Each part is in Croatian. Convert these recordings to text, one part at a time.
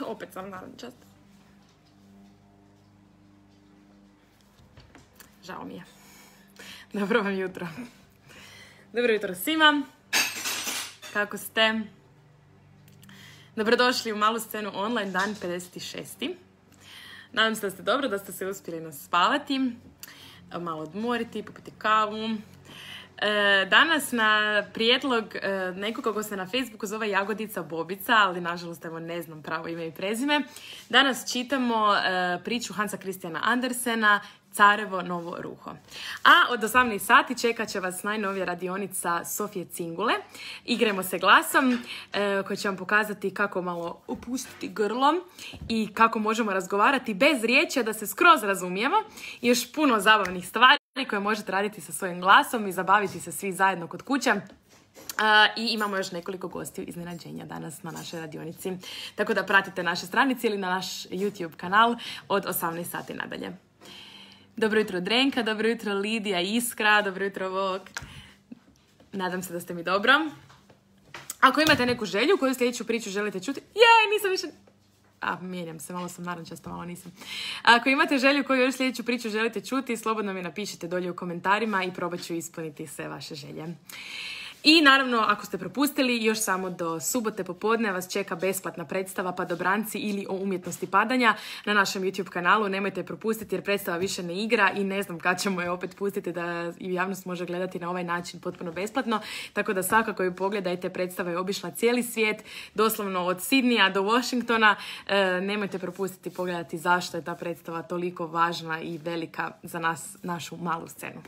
Opet sam narančast. Žao mi je. Dobro vam jutro. Dobro jutro svima. Kako ste? Dobrodošli u Malu scenu online, dan 56. Nadam se da ste dobro, da ste se uspjeli naspavati, malo odmoriti, popiti kavu. Danas na prijedlog nekoga ko se na Facebooku zove Jagodica Bobica, ali nažalost evo ne znam pravo ime i prezime. Danas čitamo priču Hansa Christiana Andersena Carevo novo ruho. A od 18 sati čekat će vas najnovija radionica Sofije Cingule. Igrajmo se glasom koji će vam pokazati kako malo opustiti grlo i kako možemo razgovarati bez riječi, da se skroz razumijemo. I još puno zabavnih stvari koje možete raditi sa svojim glasom i zabaviti se svi zajedno kod kuće. I imamo još nekoliko gostiju iznenađenja danas na našoj radionici. Tako da pratite naše stranice ili na naš YouTube kanal od 18 sati nadalje. Dobro jutro Drenka, dobro jutro Lidija, Iskra, dobro jutro Vok. Nadam se da ste mi dobro. Ako imate neku želju koju sljedeću priču želite čuti... nisam više... mijenjam se, malo sam narančasta, malo nisam. Ako imate želju koju još sljedeću priču želite čuti, slobodno mi napišite dolje u komentarima i probat ću ispuniti sve vaše želje. I naravno, ako ste propustili, još samo do subote popodne vas čeka besplatna predstava Padobranci ili o umjetnosti padanja na našem YouTube kanalu. Nemojte je propustiti jer predstava više ne igra i ne znam kad ćemo je opet pustiti da i javnost može gledati na ovaj način potpuno besplatno. Tako da svakako ju pogledajte, predstava je obišla cijeli svijet, doslovno od Sidneya do Washingtona. Nemojte propustiti pogledati zašto je ta predstava toliko važna i velika za nas, našu malu scenu.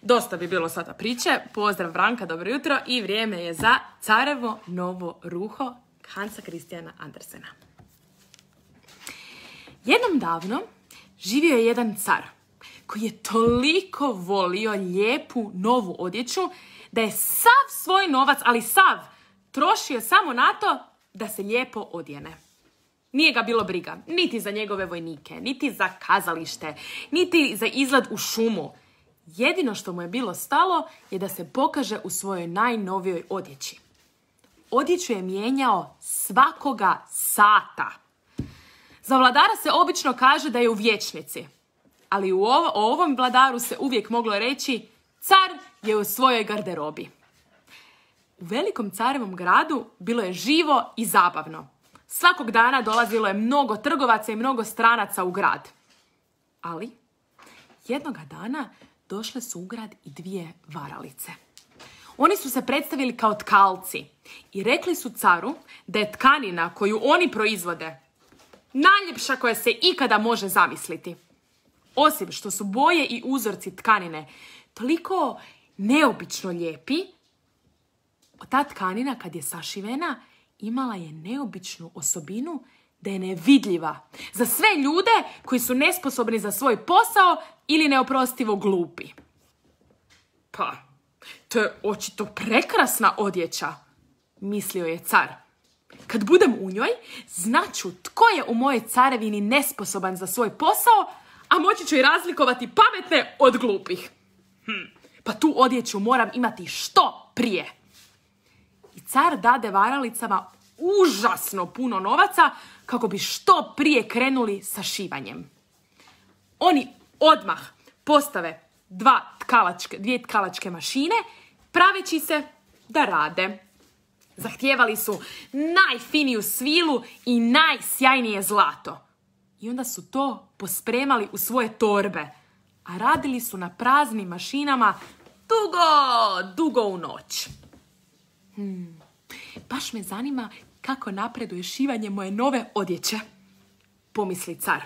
Dosta bi bilo sada priče. Pozdrav Branka, dobro jutro i vrijeme je za Carevo novo ruho Hansa Christiana Andersena. Jednom davno živio je jedan car koji je toliko volio lijepu novu odjeću da je sav svoj novac, ali sav, trošio samo na to da se lijepo odjene. Nije ga bilo briga niti za njegove vojnike, niti za kazalište, niti za izlet u šumu. Jedino što mu je bilo stalo je da se pokaže u svojoj najnovijoj odjeći. Odjeću je mijenjao svakoga sata. Za vladara se obično kaže da je u vječnici, ali o ovom vladaru se uvijek moglo reći car je u svojoj garderobi. U velikom carevom gradu bilo je živo i zabavno. Svakog dana dolazilo je mnogo trgovaca i mnogo stranaca u grad. Ali jednoga dana došle su u grad i dvije varalice. Oni su se predstavili kao tkalci i rekli su caru da je tkanina koju oni proizvode najljepša koja se ikada može zamisliti. Osim što su boje i uzorci tkanine toliko neobično lijepi, ta tkanina kad je sašivena imala je neobičnu osobinu da je nevidljiva za sve ljude koji su nesposobni za svoj posao ili neoprostivo glupi. Pa, to je očito prekrasna odjeća, mislio je car. Kad budem u njoj, znaću tko je u mojoj carevini nesposoban za svoj posao, a moći ću i razlikovati pametne od glupih. Pa tu odjeću moram imati što prije. I car dade varalicama užasno puno novaca kako bi što prije krenuli sa šivanjem. Oni odmah postave dvije tkalačke mašine, praveći se da rade. Zahtijevali su najfiniju svilu i najsjajnije zlato. I onda su to pospremali u svoje torbe, a radili su na praznim mašinama dugo u noć. Baš me zanima kako napreduje šivanje moje nove odjeće, pomisli car.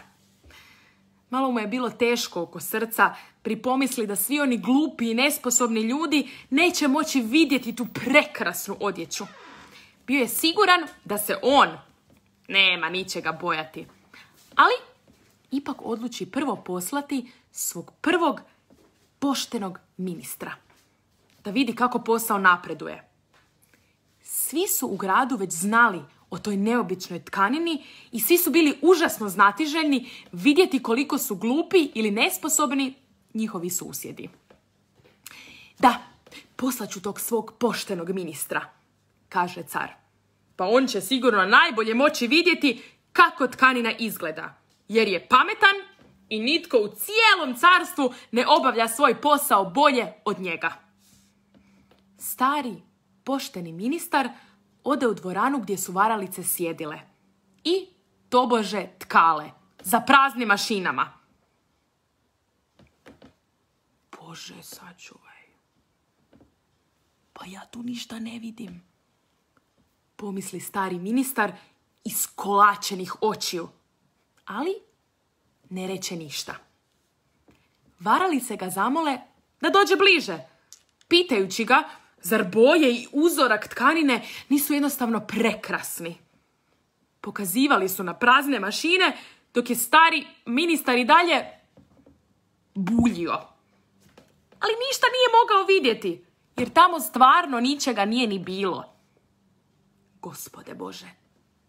Malo mu je bilo teško oko srca pri pomisli da svi oni glupi i nesposobni ljudi neće moći vidjeti tu prekrasnu odjeću. Bio je siguran da se on nema ničega bojati, ali ipak odluči prvo poslati svog prvog poštenog ministra da vidi kako posao napreduje. Svi su u gradu već znali o toj neobičnoj tkanini i svi su bili užasno znatiželjni vidjeti koliko su glupi ili nesposobni njihovi susjedi. Da, poslaću tog svog poštenog ministra, kaže car. Pa on će sigurno najbolje moći vidjeti kako tkanina izgleda, jer je pametan i nitko u cijelom carstvu ne obavlja svoj posao bolje od njega. Stari, pošteni ministar ode u dvoranu gdje su varalice sjedile i tobože tkale za praznim mašinama. Bože, sačuvaj. Pa ja tu ništa ne vidim, pomisli stari ministar iskolačenih očiju, ali ne reče ništa. Varalice ga zamole da dođe bliže, pitajući ga zar boje i uzorak tkanine nisu jednostavno prekrasni. Pokazivali su na prazne mašine, dok je stari ministar i dalje buljio. Ali ništa nije mogao vidjeti, jer tamo stvarno ničega nije ni bilo. Gospode Bože,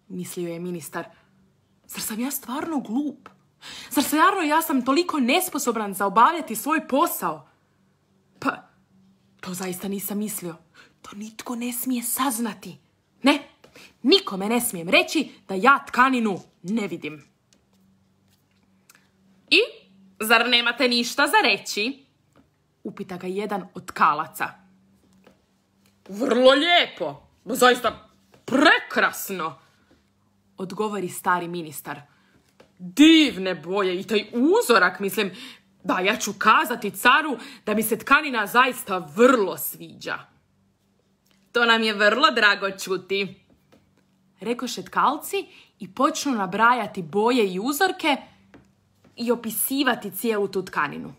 mislio je ministar, zar sam ja stvarno glup? Zar stvarno ja sam toliko nesposoban za obavljati svoj posao? Pa, to zaista nisam mislio. To nitko ne smije saznati. Ne, nikome ne smijem reći da ja tkaninu ne vidim. I, zar nemate ništa za reći? Upita ga jedan od tkalaca. Vrlo lijepo, zaista prekrasno, odgovori stari ministar. Divne boje i taj uzorak, mislim, da ja ću kazati caru da mi se tkanina zaista vrlo sviđa. To nam je vrlo drago čuti, rekoše tkalci i počnu nabrajati boje i uzorke i opisivati cijelu tu tkaninu.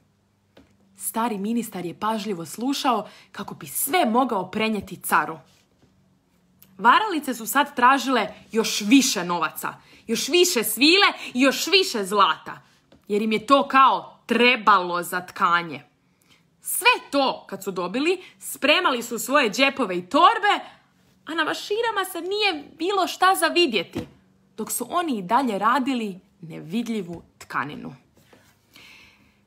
Stari ministar je pažljivo slušao kako bi sve mogao prenijeti caru. Varalice su sad tražile još više novaca, još više svile i još više zlata, jer im je to kao trebalo za tkanje. Sve to, kad su dobili, spremali su svoje džepove i torbe, a na mašinama se nije bilo šta za vidjeti, dok su oni i dalje radili nevidljivu tkaninu.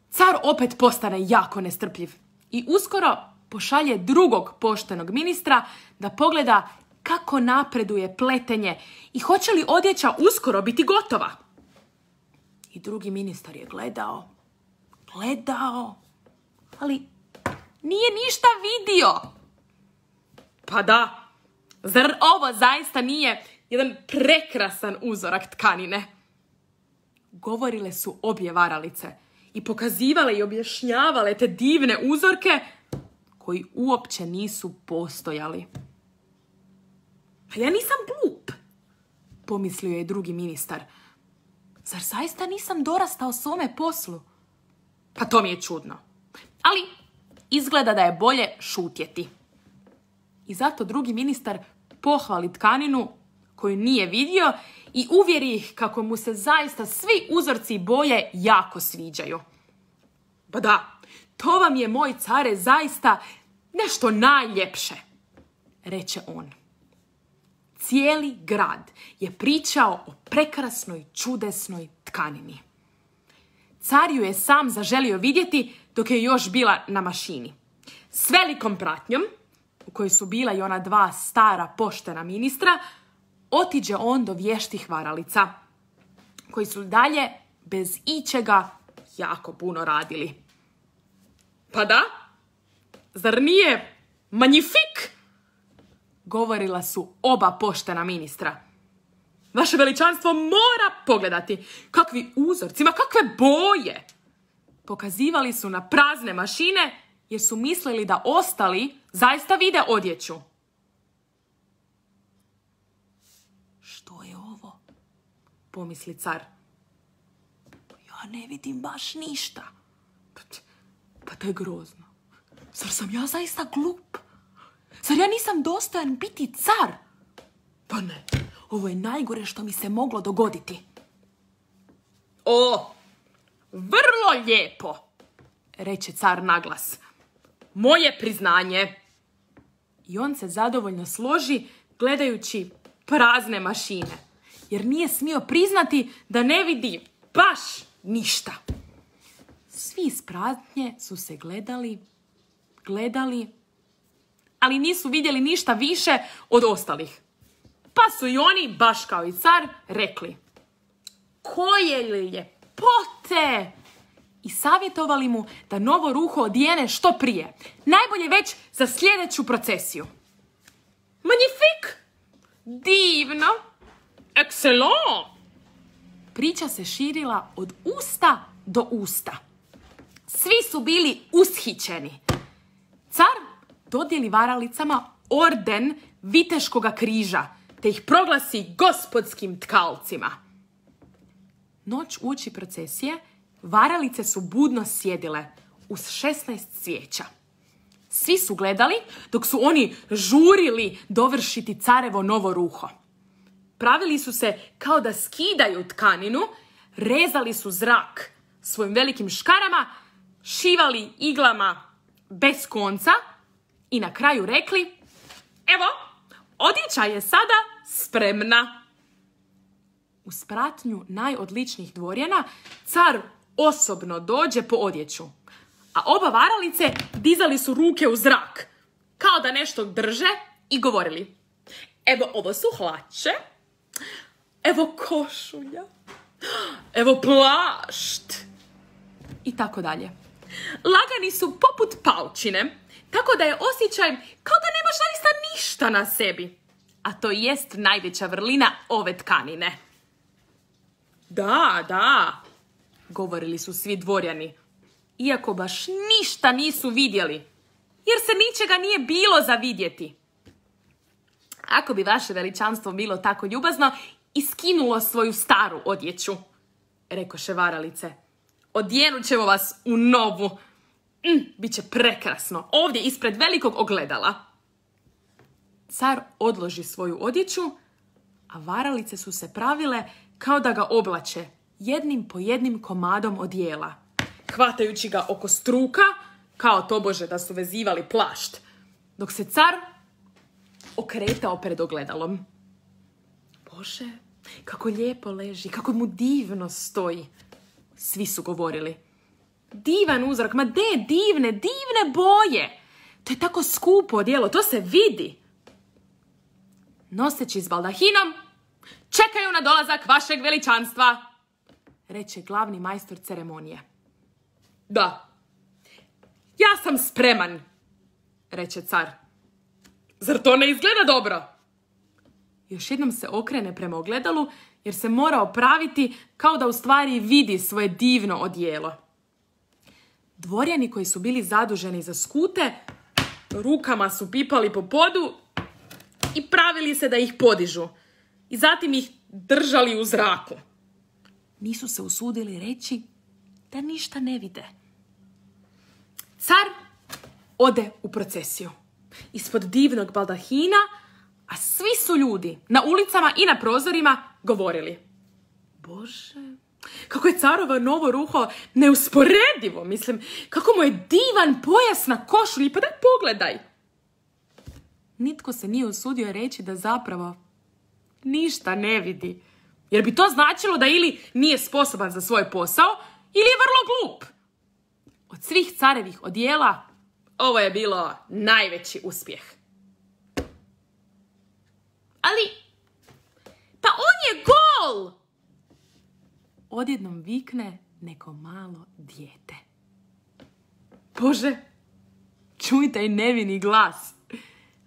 Car opet postane jako nestrpljiv i uskoro pošalje drugog poštenog ministra da pogleda kako napreduje pletenje i hoće li odjeća uskoro biti gotova. I drugi ministar je gledao, ali nije ništa vidio. Pa da, zar ovo zaista nije jedan prekrasan uzorak tkanine? Govorile su obje varalice i pokazivale i objašnjavale te divne uzorke koji uopće nisu postojali. A ja nisam glup, pomislio je drugi ministar. Zar zaista nisam dorastao svome poslu? Pa to mi je čudno. Ali izgleda da je bolje šutjeti. I zato drugi ministar pohvali tkaninu koju nije vidio i uvjeri ih kako mu se zaista svi uzorci i boje jako sviđaju. Pa da, to vam je, moj care, zaista nešto najljepše, reče on. Cijeli grad je pričao o prekrasnoj, čudesnoj tkanini. Car ju je sam zaželio vidjeti dok je još bila na mašini. S velikom pratnjom, u kojoj su bila i ona dva stara poštena ministra, otiđe on do vještih varalica, koji su dalje bez ičega jako puno radili. Pa da, zar nije magnifik? Govorila su oba poštena ministra. Vaše veličanstvo mora pogledati kakvi uzorci, ma kakve boje. Pokazivali su na prazne mašine jer su mislili da ostali zaista vide odjeću. Što je ovo? Pomisli car. Ja ne vidim baš ništa. Pa to je grozno. Zar sam ja zaista glup? Zar ja nisam dostojan biti car? Pa ne, ovo je najgore što mi se moglo dogoditi. O, vrlo lijepo, reče car naglas. Moje priznanje. I on se zadovoljno složi gledajući prazne mašine, jer nije smio priznati da ne vidi baš ništa. Svi iz pratnje su se gledali, ali nisu vidjeli ništa više od ostalih. Pa su i oni, baš kao i car, rekli: koje ljepote! I savjetovali mu da novo ruho odijene što prije. Najbolje već za sljedeću procesiju. Magnifik! Divno! Excellent! Priča se širila od usta do usta. Svi su bili ushićeni. Car dodijeli varalicama orden Viteškoga križa, te ih proglasi gospodskim tkalcima. Noć uoči procesije varalice su budno sjedile uz 16 svijeća. Svi su gledali dok su oni žurili dovršiti carevo novo ruho. Pravili su se kao da skidaju tkaninu, rezali su zrak svojim velikim škarama, šivali iglama bez konca i na kraju rekli: evo, odjeća je sada spremna. Uz pratnju najodličnijih dvorjana car osobno dođe po odjeću, a oba varalice dizali su ruke u zrak, kao da nešto drže i govorili: evo, ovo su hlače, evo košulja, evo plašt, i tako dalje. Lagani su poput paučine, tako da je osjećaj kao da nemaš zaista ništa na sebi. A to jest najveća vrlina ove tkanine. Da, govorili su svi dvorjani, iako baš ništa nisu vidjeli, jer se ničega nije bilo za vidjeti. Ako bi vaše veličanstvo bilo tako ljubazno i skinulo svoju staru odjeću, rekoše varalice, odjenut ćemo vas u novu. Biće prekrasno, ovdje ispred velikog ogledala. Car odloži svoju odjeću, a varalice su se pravile kao da ga oblače jednim po jednim komadom odijela, hvatajući ga oko struka, kao tobože da su vezivali plašt, dok se car okretao pred ogledalom. Bože, kako lijepo leži, kako mu divno stoji. Svi su govorili: divan uzrak, ma de, divne boje. To je tako skupo odijelo, to se vidi. Noseći s baldahinom, čekaju na dolazak vašeg veličanstva, reče glavni majstor ceremonije. Da, ja sam spreman, reče car. Zar to ne izgleda dobro? Još jednom se okrene prema ogledalu, jer se mora opraviti kao da u stvari vidi svoje divno odijelo. Dvorjani koji su bili zaduženi za skute, rukama su pipali po podu i pravili se da ih podižu i zatim ih držali u zraku. Nisu se usudili reći da ništa ne vide. Car ode u procesiju ispod divnog baldahina, a svi su ljudi na ulicama i na prozorima govorili: Bože, kako je carovo novo ruho neusporedivo, kako mu je divan pojas na košulji, pa daj pogledaj. Nitko se nije usudio reći da zapravo ništa ne vidi, jer bi to značilo da ili nije sposoban za svoj posao, ili je vrlo glup. Od svih carevih odijela ovo je bilo najveći uspjeh. Ali, pa on je gol! Odjednom vikne neko malo dijete. Bože, čuj taj nevini glas,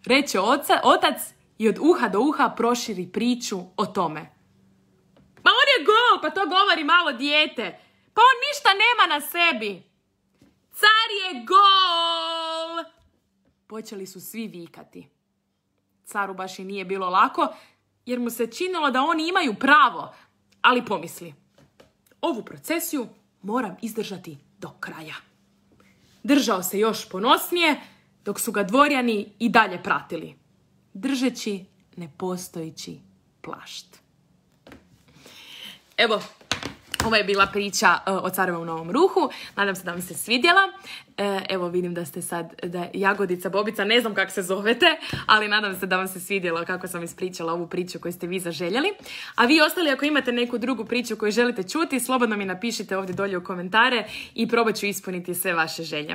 reče otac i od uha do uha proširi priču o tome. Ma on je gol, pa to govori malo dijete. Pa on ništa nema na sebi. Car je gol! Počeli su svi vikati. Caru baš i nije bilo lako, jer mu se činilo da oni imaju pravo, ali pomisli: ovu procesiju moram izdržati do kraja. Držao se još ponosnije, dok su ga dvorjani i dalje pratili, držeći nepostojeći plašt. Evo, Ovo je bila priča o Carevom novom ruhu. Nadam se da vam se svidjela. Evo vidim da ste sad, da Jagodica, Bobica, ne znam kako se zovete, ali nadam se da vam se svidjelo kako sam ispričala ovu priču koju ste vi zaželjeli. A vi ostali, ako imate neku drugu priču koju želite čuti, slobodno mi napišite ovdje dolje u komentare i probat ću ispuniti sve vaše želje.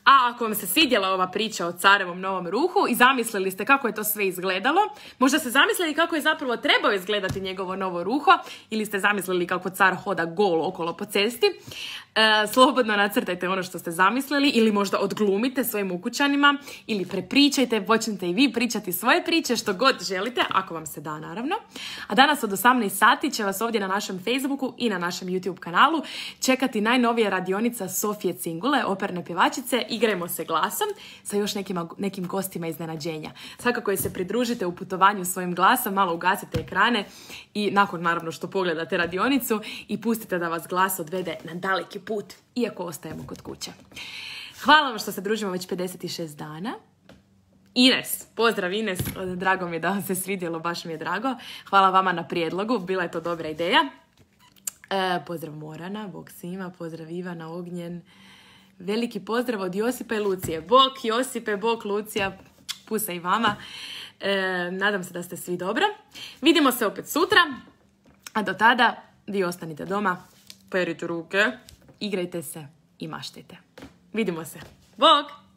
A ako vam se svidjela ova priča o Carevom novom ruhu i zamislili ste kako je to sve izgledalo, možda ste zamislili kako je zapravo trebao izgledati njegovo novo ruho, ili ste zamislili kako car hoda gol okolo po cesti, slobodno nacrtajte ono što ste zamislili ili možda odglumite svojim ukućanima ili prepričajte, počnite i vi pričati svoje priče, što god želite, ako vam se da naravno. A danas od 18 sati će vas ovdje na našem Facebooku i na našem YouTube kanalu čekati najnovija radionica Sofije Cingule, operne pjevačice Igrajmo se glasom, sa još nekim gostima iznenađenja. Svakako je se pridružite u putovanju svojim glasom, malo ugasite ekrane i nakon naravno što pogledate radionicu i pustite da vas glas odvede na daleki put, iako ostajemo kod kuće. Hvala vam što se družimo već 56 dana. Ines, pozdrav Ines, drago mi je da vam se svidjelo, baš mi je drago. Hvala vama na prijedlogu, bila je to dobra ideja. Pozdrav Morana, bog svima, pozdrav Ivana, Ognjen. Veliki pozdrav od Josipa i Lucije. Bog Josipe, bog Lucija, pusa i vama. Nadam se da ste svi dobro. Vidimo se opet sutra, a do tada vi ostanite doma, perite ruke, igrajte se i maštajte. Vidimo se. Bog!